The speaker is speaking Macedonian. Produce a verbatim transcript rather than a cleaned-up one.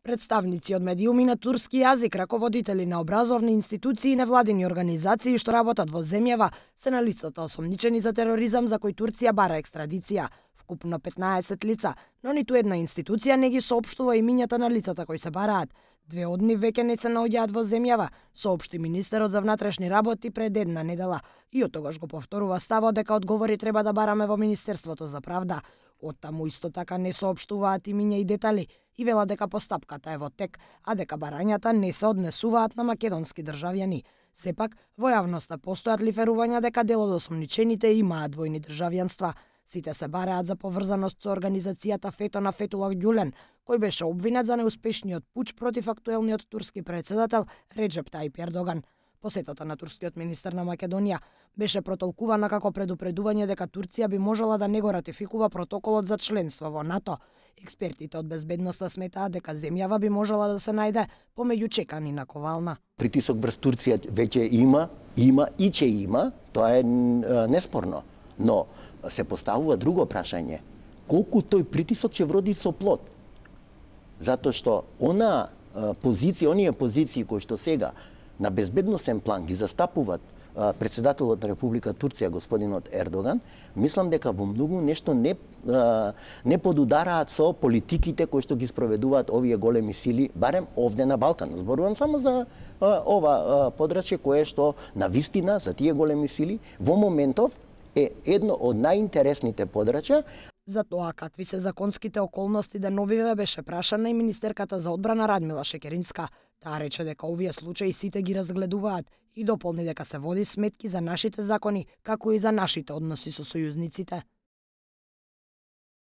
Представници од медиуми на турски јазик, раководители на образовни институции и невладини организации што работат во земјава се на листата осомничени за тероризам за кој Турција бара екстрадиција. Вкупно петнаесет лица, но ниту една институција не ги соопштува имињата на лицата кои се бараат. Две од нив веќе не се наоѓаат во земјава, соопшти министерот за внатрешни работи пред една недела и од тогаш го повторува ставот дека одговори треба да бараме во Министерството за правда. Оттаму исто така не соопштуваат имиња и детали и велат дека постапката е во тек, а дека барањата не се однесуваат на македонски државјани. Сепак, во јавноста постојат лиферувања дека дел од осомничените имаат двојни државјанства. Сите се бараат за поврзаност со организацијата Фето на Фетулах Ѓулен, кој беше обвинет за неуспешниот пуч против актуелниот турски председател Реджеп Тајип Ердоган. Посетата на турскиот министер на Македонија беше протолкувана како предупредување дека Турција би можела да не го ратификува протоколот за членство во НАТО. Експертите од безбедноста сметаат дека земјава би можела да се најде помеѓу чекани на ковална. Притисок врз Турција веќе има, има и ќе има, тоа е неспорно. Но се поставува друго прашање. Колку тој притисок ќе вроди со плод? Затоа што она позиција, оние позиции кои што сега на безбедносен план ги застапуваат председателот на Република Турција господинот Ердоган, мислам дека во многу нешто не не подудараат со политиките кои што ги спроведуваат овие големи сили, барем овде на Балкан. Зборувам само за ова подрачје кое што на вистина за тие големи сили во моментов е едно од најинтересните подрачја. За тоа какви се законските околности деновиве беше прашана и министерката за одбрана Радмила Шекеринска. Таа рече дека овие случаи сите ги разгледуваат и дополни дека се води сметки за нашите закони, како и за нашите односи со сојузниците.